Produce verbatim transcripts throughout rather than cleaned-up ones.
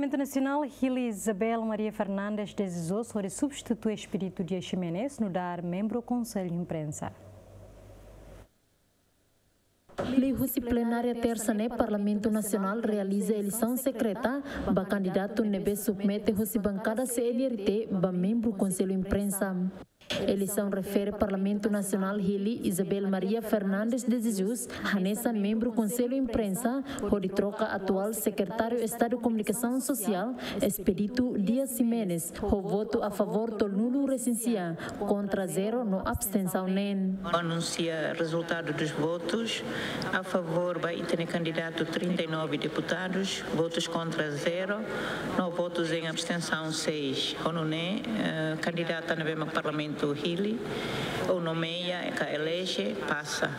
Parlamentu Nasionál hili Isabel Maria Fernandes de Jesus hodi substitui Expedito Dias Ximenes nu'udar membru Konsellu Imprensa. Liuhusi plenária tersa ne'e, Parlamentu Nasionál realiza eleisaun sekreta ba kandidatu ne'ebé submete husi bankada C N R T ba membru Konsellu Imprensa. Eleisaun refere Parlamentu Nasionál hili Isabel Maria Fernandes de Jesus hanesan membru Konsellu Imprensa, hodi troka atuál Sekretáriu Estadu Komunikasaun Sosiál, Expedito Dias Ximenes, ho votu a favór tolunulu-resin-sia, kontra zero no abstensaun neen. Anunsia resultado dos votos. A favor ba ita-nia kandidatu trinta e nove deputados, votos contra zero, no votos em abstenção seis. Ho nune'e, eh, kandidata ne'ebé mak Parlamentu hili, ou nomeia, ka eleje, pasa.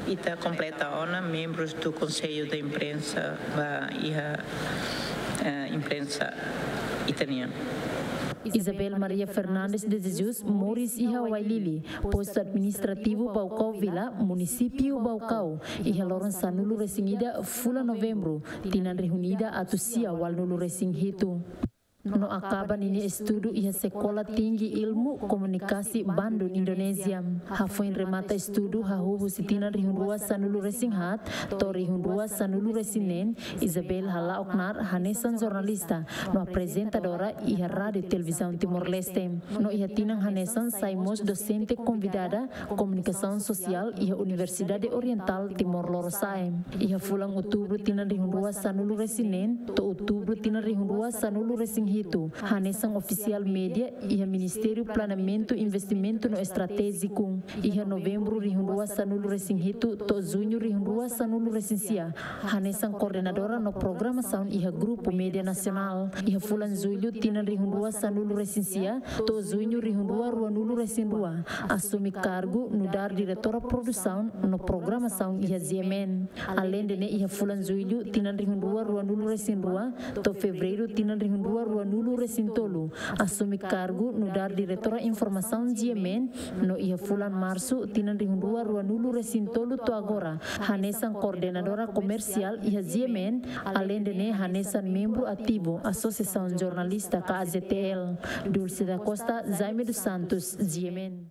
Ita kompleta ona membros do Conselho de Imprensa ba iha, eh, imprensa ita-nian. Isabel Maria Fernandes de Jesus moris iha Wailili, postu administrativu Baucau Vila, munisípiu Baucau, iha loron sanulu-resin-ida fulan Novembru, tinan rihun ida atus sia ualunulu-resin-hitu. No akaba ninia estudu iha Sekolah Tinggi Ilmu Komunikasi Bandung, Indonézia. Hafoin remata estudu hahú husi tinan rihun rua sanulu-resin-haat to'o rihun rua sanulu-resin-neen, Isabel hala'o knaar hanesan jornalista no aprezentadora iha Rádiu Televizaun Timor-Leste. No iha tinan hanesan sai mós dosente konvidada Komunikasaun Sosiál iha Universidade Orientál Timor Lorosa'e. Iha fulan Outubru tinan rihun rua sanulu-resin-neen to'o Outubru tinan rihun rua sanulu-resin-hitu, hanesan ofisiál média iha Ministériu Planeamentu, Investimentu no Estratéjiku. Iha Novembru rihun rua sanulu-resin-hitu to'o Juñu rihun rua sanulu-resin-sia, hanesan koordenadora no programasaun iha Grupu Média Nasionál. Iha fulan Jullu tinan rihun rua sanulu-resin-sia to'o Juñu rihun rua ruanulu-resin-rua, asume kargu nu'udar diretora produsaun no programasaun iha G M N. Aleinde ne'e, iha fulan Jullu tinan rihun rua ruanulu-resin-rua to'o Fevereiru tinan rihun rua ruanulu-resin-tolu, asume kargu nu'udar diretora informasaun G M N, no iha fulan Marsu tinan rihun rua ruanulu-resin-tolu to'o agora, hanesan koordenadora komersiál iha G M N, aleinde ne'e hanesan membru ativu Asosiasaun Jornalista ka A J T L. Dulce da Costa, Jaime dos Santos, G M N.